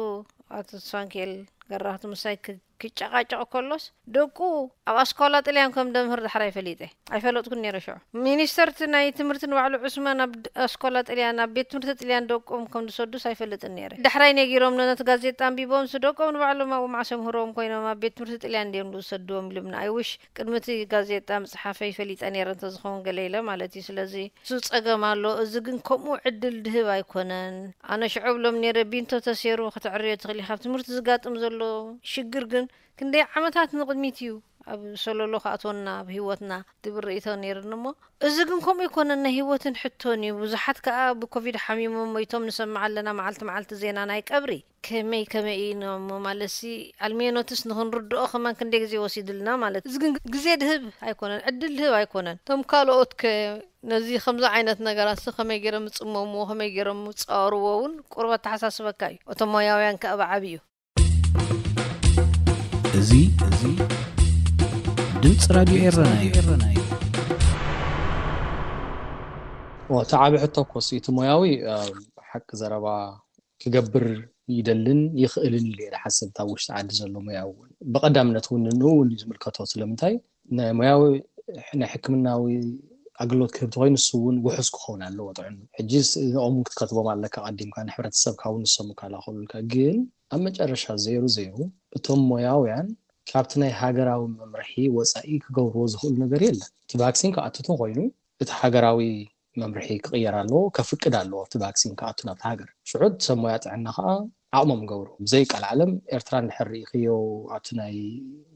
ኣቶ ሳንኬል ገራህቱ ምሳይ ክ- ክጨቃጨቕ ከሎስ ደቁ ኣብ ኣስኳላ ጥልያን ከም ደምህር ዳሕራይ ፈሊጠ። ኣይፈለጥኩን ነይረ ሽዑ። ሚኒስተር እቲ ናይ ትምህርቲ ንባዕሉ ዑስማን ኣብ ድ- ኣስኳላ ጥልያን ኣብ ቤት ትምህርቲ ጥልያን ደቆም ከም ዝሰዱስ ኣይፈልጥን ነይረ። ዳሕራይ ነጊሮም ነቲ ጋዜጣ ኣንቢቦም ስ ደቆም ንባዕሎም ኣብኡ መዓስ ምህሮም ኮይኖም ኣብ ቤት ትምህርቲ ጥልያን ድዮም ዝሰድዎም ኢሉምና። ኣይውሽ ቅድሚ እቲ ጋዜጣ ምጽሓፈይ ፈሊጠ ነይረ እንተዝኸውን ገለ ኢለ ማለት እዩ። ስለዚ እሱ ጸገም ኣሎ። እዚ ግን ከምኡ ዕድል ድህብ ኣይኮነን። ኣነ ሽዑ ብሎም ነይረ ቢንቶ ተሴሩ ክትዕርዮ ትኽእል ኢኻ። ኣብ ትምህርቲ ዝጋጥም ዘሎ ሽግር ግን ክንደይ ዓመታት ንቕድሚት እዩ ኣብ ሰለሎ ክኣትወና ኣብ ህይወትና ዝብል ርእይቶ ነይርኒ እሞ፣ እዚ ግን ከምኡ ኣይኮነን፣ ናይ ህይወትን ሕቶን እዩ። ብዙሓት ከኣ ብኮቪድ ሓሚሞም ሞይቶም ንሰምዕ ኣለና፣ መዓልቲ መዓልቲ ዜና ናይ ቀብሪ። ከመይ ከመይ እዩ እሞ ማለትሲ ኣልሜኖትስ ንኽንርድኦ ከማን ክንደይ ግዜ ወሲድልና ማለት። እዚ ግን ግዜ ድህብ ኣይኮነን፣ ዕድል ድህብ ኣይኮነን። እቶም ካልኦት ከ ነዚ ከምዚ ዓይነት ነገራት ከመይ ገይሮም ይጽመምዎ፣ ከመይ ገይሮም ይጻወርዎ እውን ቁሩብ ኣተሓሳስበካ እዩ። እቶም ሞያውያን ከኣ ብዓብዩ። እዚ እዚ ድምፂ ራድዮ ኤረና እዩ። እቲ ዓቢ ሕቶ እኮ ሲ እቲ ሞያዊ ሓቂ ዘረባ ክገብር ይደልን ይኽእልን ኢሉ እየ ዝሓስብ። እታ ውሽጢ ዓዲ ዘሎ ሞያዊ እውን ብቐዳምነት እውን ንኡ እውን እዩ ዝምልከቶ። ስለምንታይ ናይ ሞያዊ ናይ ሕክምናዊ ኣገልግሎት ክህብ ተኮይኑ ንሱ እውን ውሑስ ክኸውን ኣለዎ ጥዕኑ። ሕጂ ንኦም ክትከትቦም ኣለካ ቀዲምካ ንሕብረተሰብካ እውን ንሶም ይከላኸሉልካ። ግን ኣብ መጨረሻ ዘይሩ ዘይሩ እቶም ሞያውያን ካብቲ ናይ ሃገራዊ መምርሒ ወፃኢ ክገብርዎ ዝኽእሉ ነገር የለን። እቲ ቫክሲን ክኣትቱ ኮይኑ እቲ ሃገራዊ መምርሒ ክቕየር ኣለዎ፣ ከፍቅድ ኣለዎ እቲ ቫክሲን ክኣቱ ናብቲ ሃገር። ሽዑ ሰብ ሞያ ጥዕና ከዓ ዓቕሞም ገብሩ። ብዘይ ቃል ዓለም ኤርትራ እንድሕር ርኢኽዮ ኣብቲ ናይ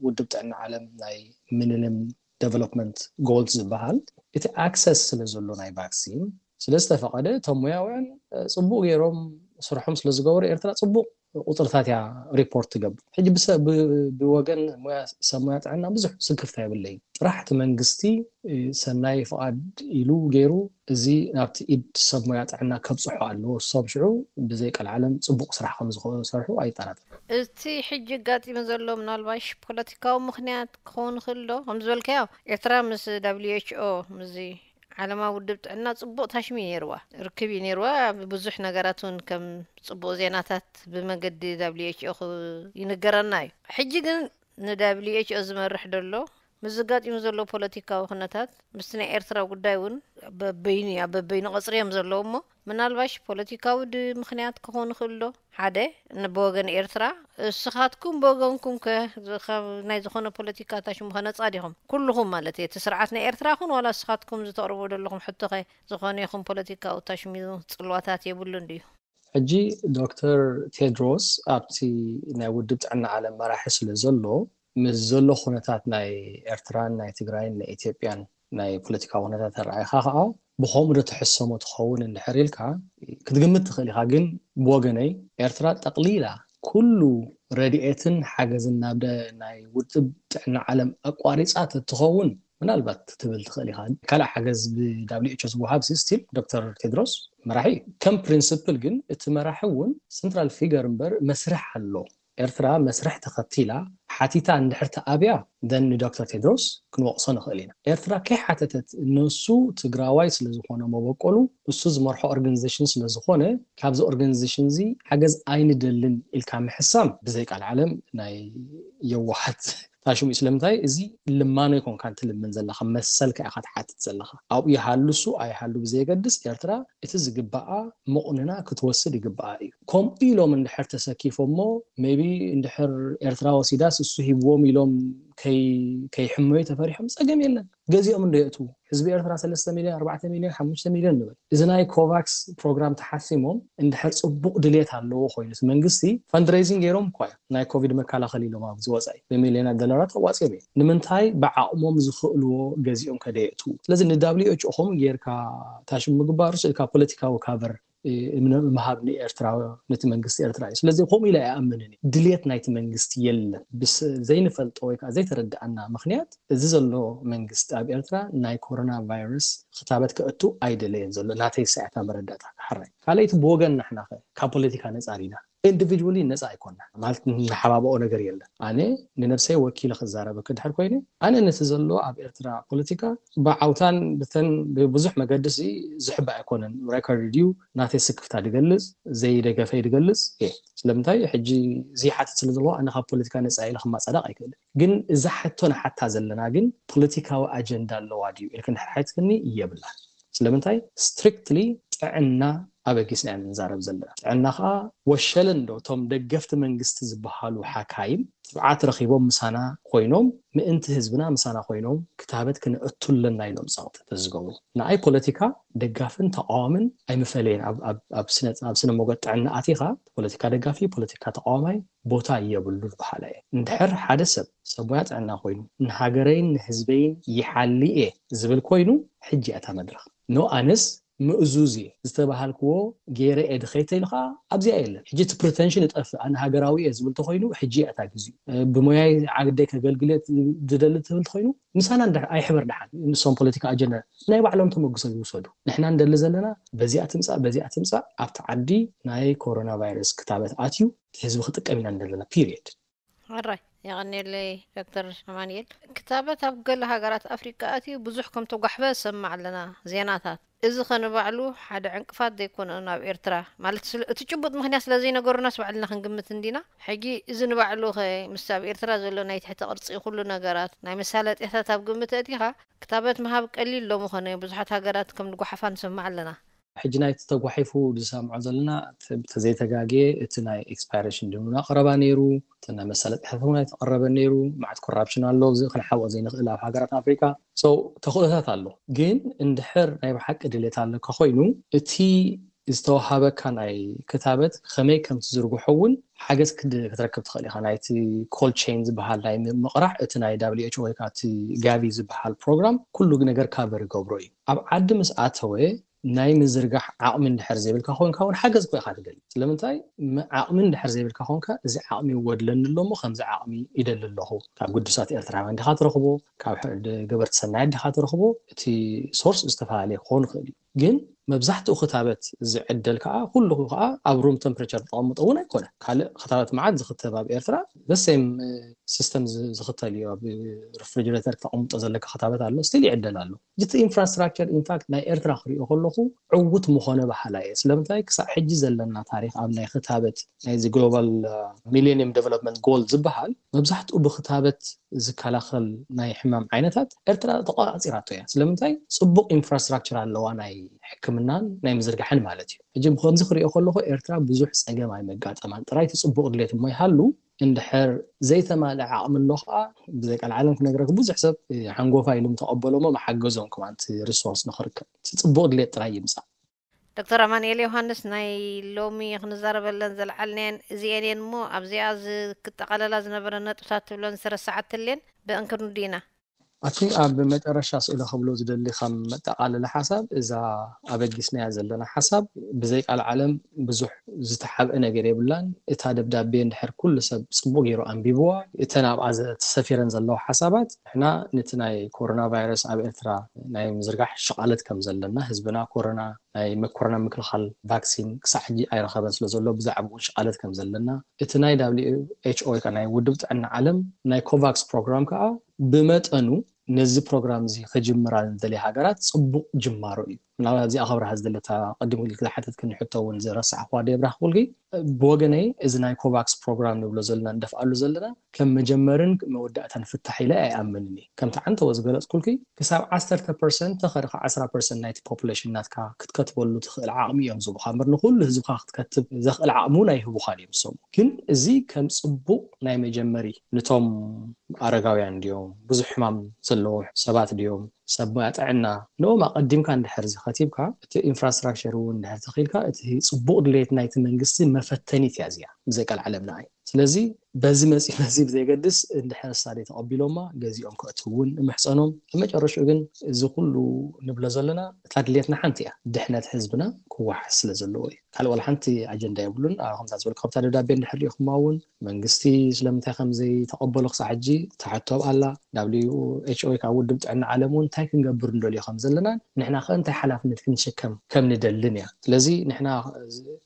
ውድብ ጥዕና ዓለም ናይ ሚሊኒየም ዴቨሎፕመንት ጎልስ ዝበሃል እቲ ኣክሰስ ስለ ዘሎ ናይ ቫክሲን ስለ ዝተፈቐደ እቶም ሞያውያን ፅቡቅ ገይሮም ስርሖም ስለ ዝገበሩ ኤርትራ ፅቡቅ ቁፅርታት እያ ሪፖርት ትገብር። ሕጂ ብሰ- ብ- ብወገን ሞያ ሰብ ሞያ ጥዕና ብዙሕ ስክፍታ የብለይ። ጥራሕ እቲ መንግስቲ ሰናይ ፍቓድ ኢሉ ገይሩ እዚ ናብቲ ኢድ ሰብ ሞያ ጥዕና ከብፅሖ ኣለዎ። እሶም ሽዑ ብዘይ ቀልዓለም ፅቡቕ ስራሕ ከም ዝሰርሑ ኣይጠራጠር። እቲ ሕጂ ኣጋጢሙ ዘሎ ምናልባሽ ፖለቲካዊ ምኽንያት ክኸውን ይኽእል ዶ? ከም ዝበልካዮ ኤርትራ ምስ W H O ምስዚ ዓለማዊ ውድብ ጥዕና ጽቡቕ ታሽሚ ነይርዋ፣ ርክብ እዩ ነይርዋ። ብዙሕ ነገራት እውን ከም ጽቡቕ ዜናታት ብመገዲ W H O ይንገረና እዩ። ሕጂ ግን ን W H O ዝመርሕ ደሎ ምስ ዘጋጢሙ ዘሎ ፖለቲካዊ ኩነታት ምስቲ ናይ ኤርትራ ጉዳይ እውን በበይኑ እያ በበይኑ ቀጽሪ እዮም ዘለዉ እሞ ምናልባሽ ፖለቲካዊ ድ ምኽንያት ክኾን ይኽእል ዶ? ሓደ ብወገን ኤርትራ እስኻትኩም ብወገንኩም ከ ካብ ናይ ዝኾነ ፖለቲካ ታሽሙ ከነጻ ዲኹም ኩልኹም ማለት እየ እቲ ስርዓት ናይ ኤርትራ ኹን ዋላ እስኻትኩም ዝተቕርቦ ዘለኹም ሕቶ ኸ ዝኾነ ይኹን ፖለቲካዊ ታሽሙ ጽልዋታት የብሉን ድዩ? ሕጂ ዶክተር ቴድሮስ ኣብቲ ናይ ውድብ ጥዕና ዓለም መራሒ ስለ ዘሎ፣ ምስ ዘሎ ኩነታት ናይ ኤርትራን ናይ ትግራይን ናይ ኢትዮጵያን ናይ ፖለቲካዊ ኩነታት ተረኣይካ ከዓ፣ ብኸምኡ ዶ ትሕሰሞ ትኸውን እንድሕር ኢልካ ክትግምት ትኽእል ኢኻ። ግን ብወገነይ፣ ኤርትራ ጠቕሊላ ኩሉ ረድኤትን ሓገዝን ናብ ናይ ውድብ ጥዕና ዓለም ኣቋሪፃ ተትኸውን፣ ምናልባት ክትብል ትኽእል ኢኻ። ካልእ ሓገዝ ብ WHO ዝወሃብ ስቲል ዶክተር ቴድሮስ መራሒ ከም ፕሪንስፕል፣ ግን እቲ መራሒ እውን ሰንትራል ፊገር እምበር መስርሕ ኣሎ። ኤርትራ መስርሕ ተኸቲላ ሓቲታ እንድሕር ተኣብያ፣ ደን ንዶክተር ቴድሮስ ክንወቕሶ ንኽእል ኢና። ኤርትራ ከይሓተተት፣ ንሱ ትግራዋይ ስለ ዝኾነ መበቆሉ፣ እሱ ዝመርሖ ኦርጋኒዜሽን ስለ ዝኾነ፣ ካብዚ ኦርጋኒዜሽን እዚ ሓገዝ ኣይንደልን ኢልካ ምሕሳም ብዘይ ቃል ዓለም ናይ የዋሃት ታሽሙ እዩ። ስለምንታይ እዚ ልማኖ ይኮንካ እንትልምን ዘለኻ፣ መሰልካ ኢኻ ትሓትት ዘለኻ። ኣብኡ ይሃሉ እሱ ኣይሃሉ ብዘየገድስ፣ ኤርትራ እቲ ዝግባኣ መቑንና ክትወስድ ይግባኣ እዩ። ከምኡ ኢሎም እንድሕር ተሰኪፎሞ፣ ሜቢ እንድሕር ኤርትራ ወሲዳስ እሱ ሂብዎም ኢሎም ከይ-፣ ከይሕመዩ ተፈሪሖም ጸገም የለን። ገዚኦም እንዶ የእትዉ፣ ህዝቢ ኤርትራ ሰለስተ ሚልዮን፣ ኣርባዕተ ሚልዮን፣ ሓሙሽተ ሚልዮን ንበል። እዚ ናይ ኮቫክስ ፕሮግራም ተሓሲሞም እንድሕር ጽቡቕ ድልየት ኣለዎ ኮይኑ፣ እቲ መንግስቲ ፈንድሬይዚንግ ገይሮም እኳ እዮም ናይ ኮቪድ መከላኸሊ ኢሎም ኣብዚ ወጻኢ ብሚልዮናት ዶላራት ኣዋጺኦም እዮም። ንምንታይ ብዓቕሞም ዝኽእልዎ ገዚኦም ከደየእትዉ? ስለዚ ን WHO ከምኡ ጌርካ ታሽሙ ምግባሩ ስእልካ ፖለቲካዊ ካቨር ምሃብ ንኤርትራ፣ ነቲ መንግስቲ ኤርትራ እዩ። ስለዚ ከምኡ ኢለ ኣይኣምንን እየ። ድልየት ናይቲ መንግስቲ የለን። ብስ-፣ ዘይንፈልጦ ወይ ከዓ ዘይተረድኣና ምኽንያት፣ እዚ ዘሎ መንግስቲ ኣብ ኤርትራ ናይ ኮሮና ቫይረስ ክታበት ከእቱ ኣይደለየን ዘሎ፣ ናተይ ሳያታ መረዳእታ። ሓራይ ካልኣይቲ ብወገን ናሕና ከ ካብ ፖለቲካ ነጻ ዲና? ኢንዲቪድዋሊ ነጻ ኣይኮና ማለት ንሓባብኦ ነገር የለን። ኣነ ንነብሰይ ወኪለ ክዛረበ ክድሕር ኮይነ፣ ኣነ ነቲ ዘሎ ኣብ ኤርትራ ፖለቲካ ብዓውታን ብተን ብብዙሕ መገዲ ሲ ዝሕባእ ኣይኮነን። ሬኮርድ ድዩ ናተይ ስክፍታ ድገልጽ፣ ዘይደገፈይ ድገልጽ እየ። ስለምንታይ ሕጂ ዝይሓትት ስለ ዘለዎ ኣነ ካብ ፖለቲካ ነጻ ኢለ ክማጻደቕ ኣይክእልን። ግን እዛ ሕቶ ንሓታ ዘለና ግን ፖለቲካዊ ኣጀንዳ ኣለዋ ድዩ ኢልክ እንድሕር ሓትክኒ፣ የብላን። ስለምንታይ ስትሪክትሊ ጥዕና ኣበጊስና ኢና ንዛረብ ዘለና። ጥዕና ከዓ ወሸለ እንዶ እቶም ደገፍቲ መንግስቲ ዝበሃሉ ሓካይም ትብዓት ረኺቦም ምሳና ኮይኖም፣ ምእንቲ ህዝብና ምሳና ኮይኖም ክታበት ክነእቱ ኣለና ኢሎም ጸቕጢ ተዝገብሩ። ንኣይ ፖለቲካ ደጋፍን ተቃዋምን ኣይምፈለየን። ኣብ፣ ኣብ፣ ኣብ ስነ፣ ኣብ ስነ ሞገድ ጥዕና ኣቲኻ ፖለቲካ ደጋፊ፣ ፖለቲካ ተቃዋማይ ቦታ የብሉን በሃላይ እየ። እንድሕር ሓደ ሰብ ሰብ ሞያ ጥዕና ኮይኑ ንሃገረይን ንህዝበይን ይሓሊ እየ ዝብል ኮይኑ፣ ሕጂ እያ እታ መድረኽ። ኖ ኣነስ ምእዙዝ እየ ዝተባሃልክዎ ገይረ እየ ድኸይተ ኢሉ ከዓ ኣብዚኣ የለን። ሕጂ እቲ ፕሪተንሽን ይጠፍእ። ኣነ ሃገራዊ እየ ዝብል ተኮይኑ ሕጂ እያ እታ ግዜኡ። እ፣ ብሞያይ ዓግደይ ከገልግል እየ ዝደሊ ትብል ተኮይኑ ምሳና እንድሕር ኣይሕበር ደሓን። ንሶም ፖለቲካ ኣጀንዳ ናይ ባዕሎም ተመግሶ ይውሰዱ። ንሕና እንደሊ ዘለና በዚኣ ትምጻእ፣ በዚኣ ትምጻእ ኣብቲ ዓዲ ናይ ኮሮና ቫይረስ ክታበት ኣትዩ ህዝቢ ክጥቀም ኢና እንደለና ፒሪየድ። ሕራይ የቐንየለይ ዶክተር ኣማንኤል። ክታበት ኣብ ገለ ሃገራት ኣፍሪቃ ኣትዩ ብዙሕ ከም ተጓሕፈ ዝሰማዕ ኣለና ዜናታት። እዚ ከ ንባዕሉ ሓደ ዕንቅፋት ዘይኮነ ናብ ኤርትራ ማለት ስለ፣ እቲ ጭቡጥ ምኽንያት ስለ ዘይነገሩናስ ባዕልና ክንግምት እንዲና። ሕጂ እዚ ንባዕሉ ከ ምስ ኣብ ኤርትራ ዘሎ ናይ ትሕቲ ቅርጺ ኩሉ ነገራት ናይ መሳለጥያታት ኣብ ግምት ኣእቲኻ ክታበት ምሃብ ቀሊል ዶ ምኾነ? ብዙሓት ሃገራት ከም ዝጓሓፋ ንሰምዕ ኣለና። ሕጂ ናይቲ ተጓሒፉ ዝሰምዖ ዘለና ተ-፣ ተዘይተጋግየ እቲ ናይ ኤክስፓይሬሽን ድምና ቀረባ ነይሩ፣ እቲ ናይ መሳለጥያታት እውን ኣይተቐረበ ነይሩ። መዓት ኮራፕሽን ኣሎ፣ እዚ ክንሓብኦ ዘይንኽእል ኣብ ሃገራት ኣፍሪካ። So ተኽእሎታት ኣሎ። ግን እንድሕር ናይ ብሓቂ ድሌት ኣለካ ኮይኑ፣ እቲ ዝተዋሃበካ ናይ ክታበት ከመይ ከም ትዝርግሖ እውን ሓገዝ ክድ-፣ ክትረክብ ትኽእል ኢኻ። ናይቲ ኮልድ ቼን ዝበሃል ናይ ም-፣ ምቕራሕ፣ እቲ ናይ WHO ወይ ከዓ እቲ ጋቪ ዝበሃል ፕሮግራም ኩሉ ነገር ካቨር ይገብሮ እዩ። ኣብ ዓዲ ምስ ኣተወ ናይ ምዝርጋሕ ዓቕሚ እንድሕር ዘይብልካ ኮይንካ እውን ሓገዝ እኮ ኢኻ ትደሊ። ስለምንታይ? ም-፣ ዓቕሚ እንድሕር ዘይብልካ ኮይንካ፣ እዚ ዓቕሚ ይጎድለኒ ኣሎ እሞ ከምዚ ዓቕሚ ይደሊ ኣለኹ፣ ካብ ግዱሳት ኤርትራውያን ዲኻ ትረኽቦ፣ ካብ ሕ-፣ ድ-፣ ገበርቲ ሰናያት ዲኻ ትረኽቦ፣ እቲ ሶርስ ዝተፈላለየ ክኸውን ይኽእል እዩ። ግን መብዛሕትኡ ክታበት ዝዕደል ከዓ ኩሉ ከዓ ኣብ ሩም ተምፕሬቸር ተቐምጦ እውን ኣይኮነ። ካልእ ክታበት መዓት ዝክተብ ኣብ ኤርትራ ዘሴም ሲስተም ዝ-፣ ዝኽተል እዩ። ኣብ ሪፍሪጅሬተር ክተቐምጦ ዘለካ ክታበት ኣሎ፣ ስቲል ይዕደል ኣሎ። እቲ ኢንፍራስትራክቸር ኢንፋክት ናይ ኤርትራ ክሪኦ ከለኹ ዕውት ምኾነ በሃላይ እየ። ስለምንታይ ክሳብ ሕጂ ዘለና ታሪኽ ኣብ ናይ ክታበት ናይዚ ግሎባል ሚሌኒየም ዴቨሎፕመንት ጎል ዝበሃል መብዛሕትኡ ብክታበት ዝከላኸል ናይ ሕማም ዓይነታት ኤርትራ ተቆጻጺራቶ እያ። ስለምንታይ ጽቡቕ ኢንፍራስትራክቸር ኣለዋ ናይ ሕክምናን ናይ ምዝርጋሕን ማለት እዩ። ሕጂ ብከምዚ ክሪኦ ከለኹ ኤርትራ ብዙሕ ጸገም ኣይመጋጠማን። ጥራይ እቲ ጽቡቕ ድሌት እሞ ይሃሉ እንድሕር ዘይተማልአ ዓቕሚ ኣሎ ከዓ ብዘይ ቃል ዓለም ክነግረክ ብዙሕ ሰብ ሓንጎፋ ኢሉ ምተቐበሎ እሞ መሓገዞም ከማን እቲ ሪሶርስ ንክርከብ እቲ ጽቡቕ ድሌት ጥራይ ይምጻእ። ዶክተር ኣማንኤል ዮሃንስ፣ ናይ ሎሚ ክንዛረበለን ዘልዓልናየን እዚኤን እየን እሞ ኣብዚኣ ዝ- ክጠቓለላ ዝነበረ ነጥብታት ትብለን ዝተረሳዓትልን ብእንክንዱ ኢና። ኣቲ ኣብ መጨረሻ ስእለ ክብሎ ዝደሊ ከም መጠቓለሊ ሓሳብ፣ እዛ ኣበጊስናያ ዘለና ሓሳብ ብዘይ ቃል ዓለም ብዙሕ ዝተሓብአ ነገር የብላን። እታ ደብዳቤ እንድሕር ኩሉ ሰብ ጽቡቅ ገይሩ ኣንቢብዋ፣ እተን ኣብኣ ዘ- ተሰፊረን ዘለዋ ሓሳባት፣ ንሕና ነቲ ናይ ኮሮና ቫይረስ ኣብ ኤርትራ ናይ ምዝርጋሕ ሽቓለት ከም ዘለና፣ ህዝብና ኮሮና ናይ ኮሮና ምክልኻል ቫክሲን ክሳዕ ሕጂ ኣይረኸበን ስለ ዘሎ፣ ብዛዕባኡ ሽቓለት ከም ዘለና፣ እቲ ናይ W H O ወይ ከዓ ናይ ውድብ ጥዕና ዓለም ናይ ኮቫክስ ፕሮግራም ከዓ ብመጠኑ ነዚ ፕሮግራም እዚ ክጅምራ ንደልያ ሃገራት ጽቡቕ ጅማሮ እዩ። ምናልባት እዚኣ ክብርሃ ዝደለታ ቅድም ኢልክ ዝሓተትክኒ ሕቶ እውን ዝረሳዕኽዋ ዶ የብራህኩልኪ? ብወገነይ እዚ ናይ ኮቫክስ ፕሮግራም ንብሎ ዘለና ንደፍኣሉ ዘለና ከም መጀመርን መወዳእታን ፍታሕ ኢለ ኣይኣምንን እየ። ከምቲ ዓንተወ ዝገለጽኩልኪ ክሳብ ዓሰርተ ፐርሰንት ተኸድካ ዓስራ ፐርሰንት ናይቲ ፖፑሌሽን ናትካ ክትከትበሉ ትኽእል ዓቕሚ እዮም ዝህቡኻ እምበር ንኩሉ ህዝብካ ክትከትብ ዘኽእል ዓቕሚ እውን ኣይህቡኻን እዮም ዝሰሙ። ግን እዚ ከም ጽቡቕ ናይ መጀመሪ ንቶም ኣረጋውያን ድዮም፣ ብዙሕ ሕማም ዘለዎ ሰባት ድዮም፣ ሰብ ሞያ ጥዕና፣ ንኦም ኣቐዲምካ እንድሕር ዝኸቲብካ፣ እቲ ኢንፍራስትራክቸር እውን እንድሕር ተኺልካ፣ እቲ ጽቡቕ ድሌት ናይቲ መንግስቲ መፈተኒት እያ እዚኣ፣ ብዘይ ቃል ዓለም ንዓይ። ስለዚ በዚ መፂ በዚ ብዘይገድስ እንድሕር ሳሌ ተቐቢሎማ ገዚኦም ከእትው እውን እምሕፀኖም። ኣብ መጨረሽኡ ግን እዚ ኩሉ ንብሎ ዘለና እታ ድሌትና ሓንቲ እያ፣ ድሕነት ህዝብና ክወሓስ ስለ ዘለዎ እዩ። ካልእ ዋላ ሓንቲ ኣጀንዳ የብሉን። ኣብ ከምዛ ዝበልካ ካብታ ደብዳቤ እንድሕር ሪኢኹማ እውን መንግስቲ ስለምንታይ ከም ዘይተቐበሎ ክሳዕ ሕጂ ትሓቶ ኣላ። W H O ካብ ውድብ ጥዕና ዓለም እውን እንታይ ክንገብር ንደልዮ ከም ዘለና ንሕና ከ እንታይ ሓላፍነት ክንሸከም ከም ንደልን እያ። ስለዚ ንሕና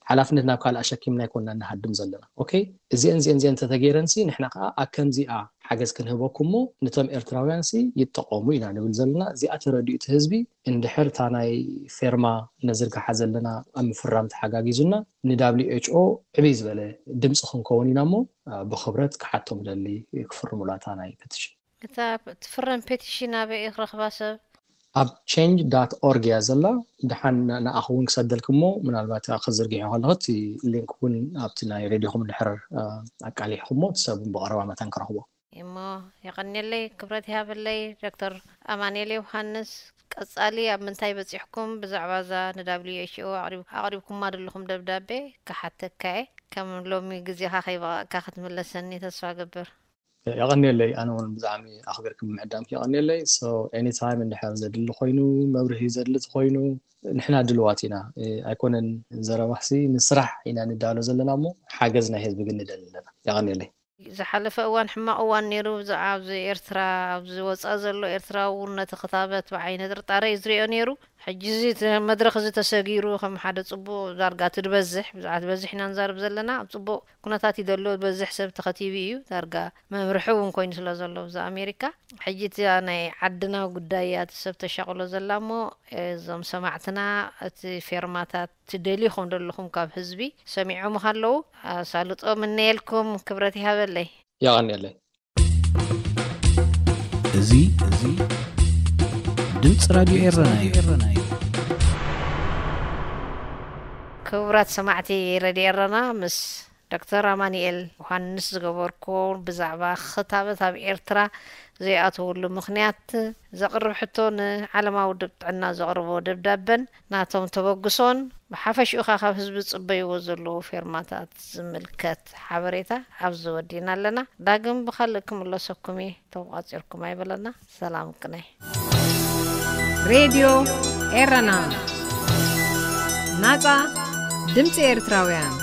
ሓላፍነት ናብ ካልእ ኣሸኪምና ኣይኮና ንሃድም ዘለና። ኦኬ፣ እዚአን እዚአን እዚአን እንተተገይረንሲ ንሕና ከዓ ኣብ ከምዚኣ ሓገዝ ክንህበኩም እሞ ነቶም ኤርትራውያንሲ ይጠቐሙ ኢና ንብል ዘለና። እዚኣ ተረዲኡ እቲ ህዝቢ እንድሕር እታ ናይ ፌርማ ነዝርግሓ ዘለና ኣብ ምፍራም ተሓጋጊዙና ን W H O ዕብይ ዝበለ ድምፂ ክንከውን ኢና እሞ ብክብረት ክሓቶም ደሊ ክፍርሙላ እታ ናይ ፔቲሽን። እታ ትፍረም ፔቲሽን ኣበይ እዩ ክረኽባ ሰብ? ኣብ change dot org እያ ዘላ። ድሓን ንኣኹ እውን ክሰደልክ እሞ ምናልባት ክዝርግሖ ከለኹ እቲ ሊንክ እውን ኣብቲ ናይ ሬድዮኹም እንድሕር ኣቃሊሕኩሞ እቲ ሰብ እውን ብቐረባ መታን ክረኽቦ። እሞ የቐንየለይ፣ ክብረት ይሃበለይ ዶክተር ኣማኑኤል ዮሃንስ። ቀጻሊ ኣብ ምንታይ በጺሕኩም ብዛዕባ እዛ ን W H O ኣቕሪብ- ኣቕሪብኩማ ዘለኹም ደብዳቤ ክሓተካ እየ። ከም ሎሚ ግዜኻ ከይበቐዕካ ክትምለሰኒ ተስፋ ገብር። የቐንየለይ፣ ኣነ እውን ብዛዕሚ ኣኽቢርኩም ምዕዳምኪ የቐንየለይ። So anytime እንድሕር ዘድሊ ኮይኑ፣ መብርሂ ዘድሊ ተኾይኑ ንሕና ድልዋት ኢና። ኣይኮነን ዘረባሲ ንስራሕ ኢና ንዳሎ ዘለና እሞ ሓገዝ ናይ ህዝቢ ግን ንደሊ ኣለና። የቐንየለይ። ዝሓለፈ እዋን ሕማቕ እዋን ነይሩ። ብዛዕባ ኣብዚ ኤርትራ ኣብዚ ወፃእ ዘሎ ኤርትራዊ እውን ነቲ ክታበት ብዓይነ ጥርጣረ እዩ ዝሪኦ ነይሩ። ሕጂ እዚ እቲ መድረኽ እዚ ተሰጊሩ ከም ሓደ ፅቡቕ ዳርጋ እቲ ዝበዝሕ ብዛዕባ ዝበዝሕ ኢና ንዛረብ ዘለና ኣብ ፅቡቕ ኩነታት እዩ ዘሎ። ዝበዝሕ ሰብ ተኸቲቡ እዩ ዳርጋ መምርሒ እውን ኮይኑ ስለ ዘሎ ብዛ ኣሜሪካ ሕጂ እቲ ናይ ዓድና ጉዳይ እያ እቲ ሰብ ተሻቕሎ ዘላ እሞ እዞም ሰማዕትና እቲ ፌርማታት ትደልዩ ከም ዘለኹም ካብ ህዝቢ ሰሚዖም ኣለዉ። ኣሳልጦ ምነየልኩም ክብረት ይሃበለይ። የቐንየለይ። እዚ እዚ ድምፂ ራድዮ ኤረና እዩ። ክቡራት ሰማዕቲ ረድዮ ኤረና ምስ ዶክተር ኣማኑኤል ዮሃንስ ዝገበርኩ ብዛዕባ ክታበት ኣብ ኤርትራ ዘይኣተወሉ ምኽንያት ዘቕርብ ሕቶ ንዓለማዊ ውድብ ጥዕና ዘቕርቦ ደብዳበን ናቶም ተበግሶን ብሓፈሽኡ ኸኣ ካብ ህዝቢ ዝጽበይዎ ዘለዉ ፌርማታት ዝምልከት ሓበሬታ ኣብዚ ወዲእና ኣለና። ዳግም ብኻልእ ክምለሰኩም እየ። ተቋጺርኩም ኣይበለና። ሰላም ቅነ። ሬድዮ ኤረና ናጻ ድምፂ ኤርትራውያን።